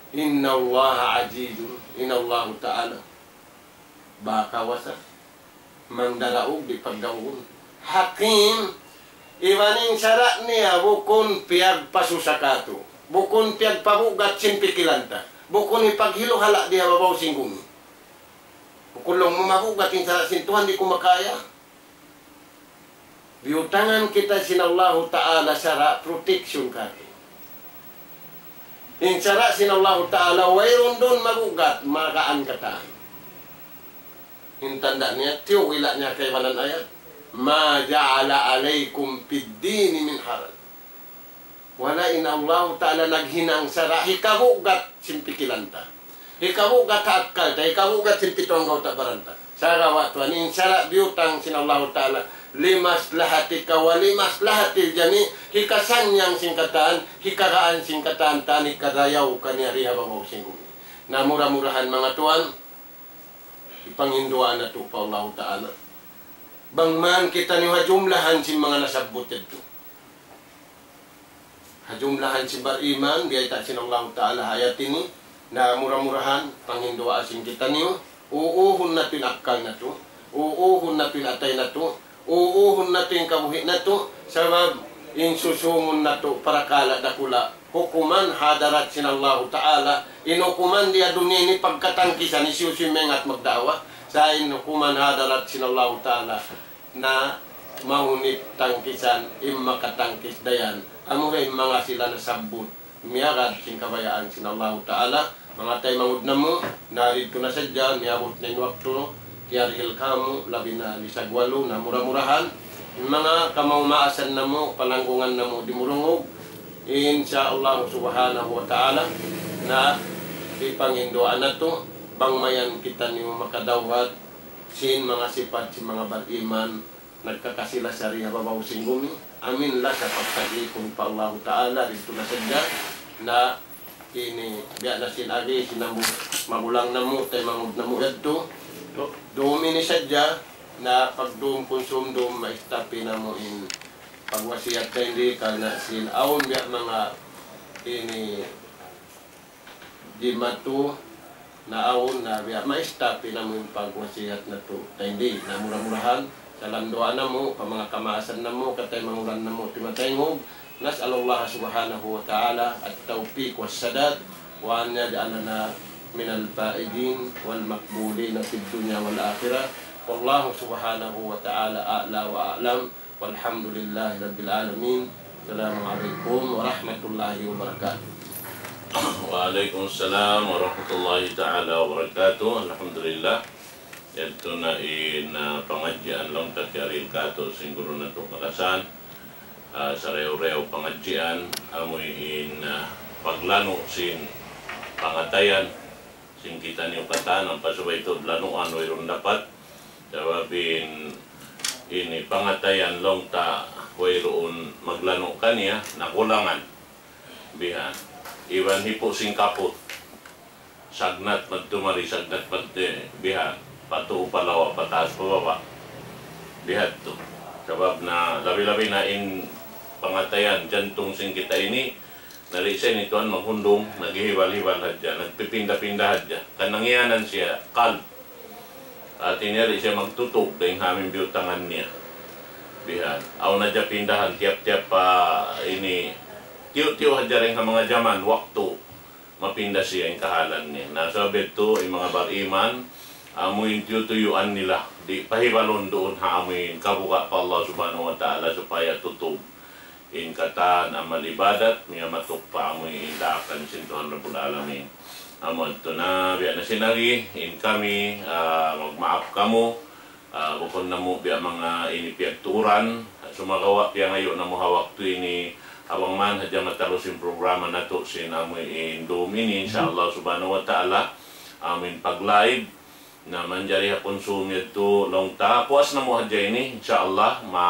إن الله عزيز, in Allahu Ta'ala, ba kawasa, mangdaraug di' pagdaugun. Hakim, iban in sara' niya bukun piyagpasusa katu', bukun piyagpabugat sin pikilan ta, bukun hipaghiluhala' di ha babaw sin gumi. Bukun laung mu mabugat in sara' sin Tuhan, di' ku makaya. Biyutangan kita sin Allahu Ta'ala sara' protection katu'. In sara' sin Allahu Ta'ala, wayruun duun mabugat, magaan katan. In tanda' niya, tiyuwila' niya kaibanan ayat, ما جعل عليكم في الدين من حرج. Wala' in Allahu Ta'ala naghinang sara' hikabugat sin pikilan ta. Hikabugat ha akkal ta, hikabugat sin pitu anggawta' baran ta. Sagawa' tuwan, in sara' biyutang sin Allahu Ta'ala, لمصلحتك ولمصلحة الجميع, hikasannyang sin katan, hikagaan sin katan, tan hikarayaw kaniya di ha babaw sin gumi. Na mura-murahan manga tuwan, hipanghinduwaa natu' pa Allahu Ta'ala. Bang man kitaniyu ha jumlahan sin manga nasabbut yadtu. Ha jumlahan sin bariman, biyayta' sin Allahu Ta'ala ha ayat ini, na mura-murahan, panghinduwaa sin kitaniyu, uuhun natu' in akkal natu', uuhun natu' in atay natu', uuhun natu' in kabuhi' natu', sabab in susūngun natu' parakala' dakula', hukuman ha hadarat sin Allahu Ta'ala, in hukuman di ha dunya ini pagkatangkisan, hisiyu-siyu maingat magda'wa, sa' in hukuman ha hadarat sin Allahu Ta'ala, na mahunit tangkisan, in makatangkis dayn. Amura in manga sila nasabbut, miyagad sin kabayaan sin Allahu Ta'ala, manga taymanghud namu', na didtu na sadja, miyabut na in waktu, kiyarihil kamu', labi na lisag walu, na mura-murahan, in manga kamaas-maasan namu', palanggungan namu', dimurungug, insya Allah subhanahu wa ta'ala, na hipanghinduwaa natu', bang mayan kitaniyu makadawhat, sin manga sipat sin manga bariman, nagkakasi-lasa di ha babaw sin gumi. Amin lasa pagtag-ipun pa Allahu Ta'ala, didtu na sadja. Na ini, biya' na sin agi, sin namu', magulang namu', taymanghud namu' yadtu. Du-, dum ini sadja, na pagdum kunsum dum, maistapi namu' in pagwasiyat ta ini, karna' sin awn biya' manga ini, jimatu, na awn na biya' maistapi namu' in pagwasiyat natu' ta ini. Na mura-murahan, sa' landuwaa namu', pa manga kamaasan namu', kataymanghud namu', timataymanghud. نسأل الله سبحانه وتعالى التوفيق والسداد، وأن يجعلنا من الفائزين والمقبولين في الدنيا والآخرة. والله سبحانه وتعالى أعلى وأعلم. والحمد لله رب العالمين. السلام عليكم ورحمة الله وبركاته. وعليكم السلام ورحمة الله تعالى وبركاته. Alhamdulillah. Yadtu na in pangadjian laung ta kiyarihil katu' sin guru natu' kalasahan. Sarayaw-rayaw pangadjian amuin paglanu' sin pangatayan sin kitaniyu katan, ampa subay tuud lanuan wayruun dapat. Sabab in ini pangatayan laung ta wayruun maglanu' kaniya, nakulangan. Bihan. Iban hipu' sin kaput. Sagnat madtu mari, sagnat madtu bihan. Patuu pa lawa, pataas pa baba'. Bihadtu. Sabab na labi-labi na in pangatayan jantung sin kita ini, na di' sa ini tuwan maghundung, naghihibal-hibal hadja, nagpipinda-pinda hadja. Kan nangiyanan siya, qalb. Hati niya di' siya magtutug dayn ha amin biyutangan niya. Bihan. Awn hadja pindahan, tiyap-tiyap pa ini, tiyu'-tiyu' hadja dayn ha manga jaman, waktu, mapinda siya in kahalan niya. Na sabab yadtu, in manga bariman, amu in tiyutuyuan nila, di' pahibalun duun ha amu in kabuga' pa Allah Subhanahu wa Ta'ala supaya tutug in katan amal ibadat, miyamatuk pa amu in daakan sin Tuhan Rabbul Alamin. Amu yadtu na, biya' na sin agi, in kami, ah, magmaap kamu, ah, bukun namu' biya' manga ini piyagtuuran, sumagawa' piyangayu' namu' ha waktu ini, ha bang man hadja matalus in programa natu' sin amu in dum ini, insya Allah Subhanahu wa Ta'ala, amu in pag-live, na manjari ha kunsum yadtu laung ta, puas namu' hadja ini, insya Allah, ma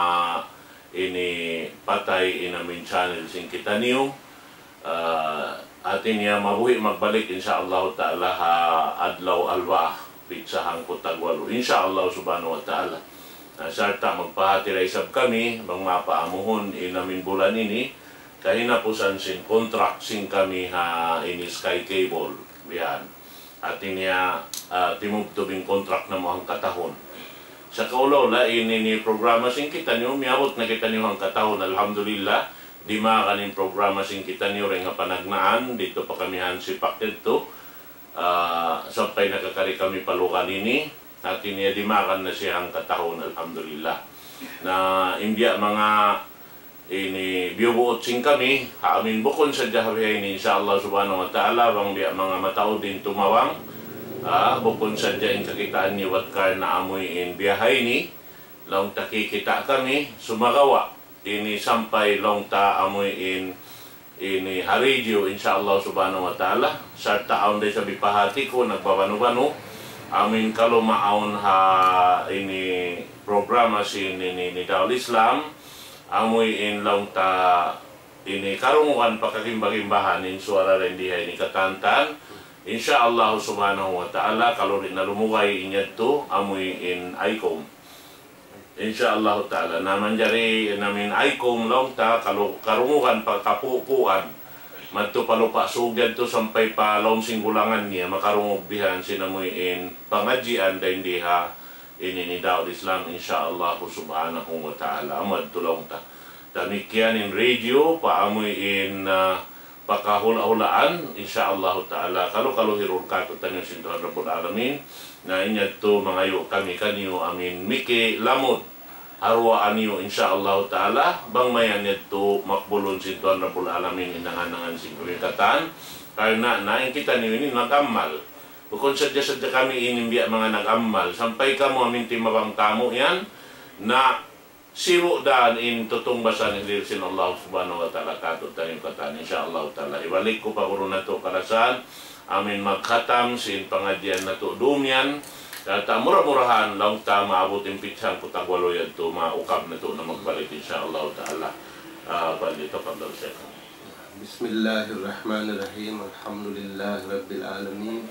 ini patay in amu in channel sin kitaniyu. Ah, hati niya mabuhi' magbalik, insya Allah Ta'ala, ha adlaw Alwaa, pitsa hangpu' tagwalu, insya Allah Subhanahu wa Ta'ala. Na sarta' magpahati da isab kami, bang mapaamuhun in amu in bulan ini, kahinapusan sin contract sin kami ha ini Sky Cable, bihan. Hati niya, ah, timubtub in contract namu' hangkatahun. Sa' kaula-ula, ini, ini programa sin kitaniyu, miyabut na kitaniyu hangkatahun, alhamdulillah. Dimagan in programa sin kitaniyu dayn ha panagnaan, didtu pa kami ha Ansipak yadtu. Ah, sampay nakakari kami pa lugal ini, hati niya dimagan na siya hangkatahun, alhamdulillah. Na in biya' manga ini biyubuut sin kami, ha amu in bukun sadja ha biha ini, insya Allah Subhanahu wa Ta'ala, bang biya' manga mataud in tumawang, ah, bukun sadja in kakitaan niyu bat karna' amu in biya' ha ini, laung ta kikita' kami, sumagawa', ini sampay laung ta amu in, ini ha radio, insya Allah Subhanahu wa Ta'ala, sarta' awn da isab bipahati ku, nagbabanu-banu, amu in kalu maawn ha ini programa sin ini, ini Da'wah Islam, amu in laung ta ini karungugan pa kagimba-gimbahan in suwara dayn di ha ini katantan. Insya Allah Subhanahu wa Ta'ala, kalu di' na lumugay in yadtu, amu in ICOM. Insya Allah Ta'ala, na manjari in amu in ICOM laung ta, kalu karungugan pa kapupuan. Madtu pa Lupa' Sug yadtu sampay pa Laum Singgulangan niya, makarungug bihan sin amu in pangadjian dayn di ha ini, ini Da'wah Islam, insya Allah Subhanahu wa Ta'ala. Amu yadtu laung ta. Damikkiyan in radio, pa amu in, ah, pakahula'-hulaan, insya Allah Ta'ala. Kalu-kalu hirul katu'taniyu sin Tuhan Rabbul Alamin. Na in yadtu mangayu' kami kaniyu amu in miki lamud ha duwaa niyu, insya Allah Ta'ala. Bang mayan yadtu makbulun sin Tuhan Rabbul Alamin in angan-angan sin kami katan. Karna' na in kitaniyu ini nag-amal. Bukun sadja-sadja kami ini biya' manga nag-amal. Sampay kamu amu in timabang tamu yan, na sibu' dan in tutungbasan in dihil sin Allah Subhanahu wa Ta'ala katu'taniyu katan, insya Allah Ta'ala. Hibalik ku pa guru natu' kalasahan, amu in magkhatam sin pangadjian natu' dum yan. Kata' mura-murahan, laung ta maabut in pitsa hangpu' tagwalu yadtu, maukab natu' na magbalik, insya Allah Ta'ala. Ah, فليتفضل شيخنا. بسم الله الرحمن الرحيم. الحمد لله رب العالمين.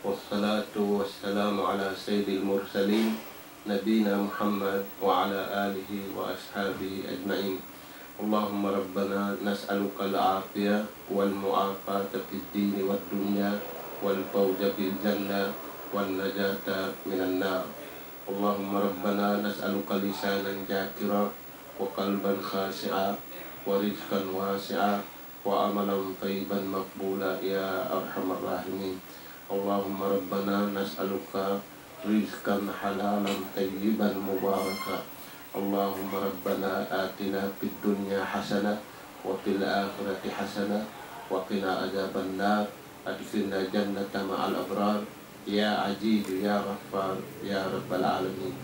والصلاة والسلام على سيد المرسلين نبينا محمد وعلى آله وأصحابه أجمعين. اللهم ربنا نسألك العافية والمعافاة في الدين والدنيا والفوز بالجنة والنجاة من النار. اللهم ربنا نسألك لسانا ذاكرا وقلبا خاشعا ورزقا واسعا وعملا طيبا مقبولا يا أرحم الراحمين. اللهم ربنا نسألك رزقا حلالا طيبا مباركا. اللهم ربنا آتنا في الدنيا حسنة وفي الآخرة حسنة وقنا عذاب النار. أدخلنا الجنة مع الأبرار. يا عزيز يا غفار يا رب العالمين.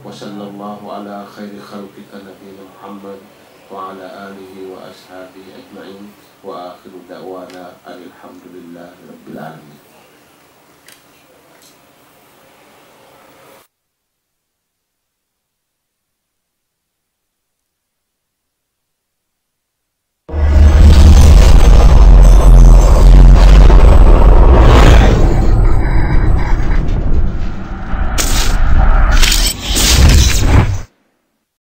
وصلى الله على خير خلقك نبينا محمد وعلى آله وأصحابه أجمعين. وآخر دعوانا أن الحمد لله رب العالمين.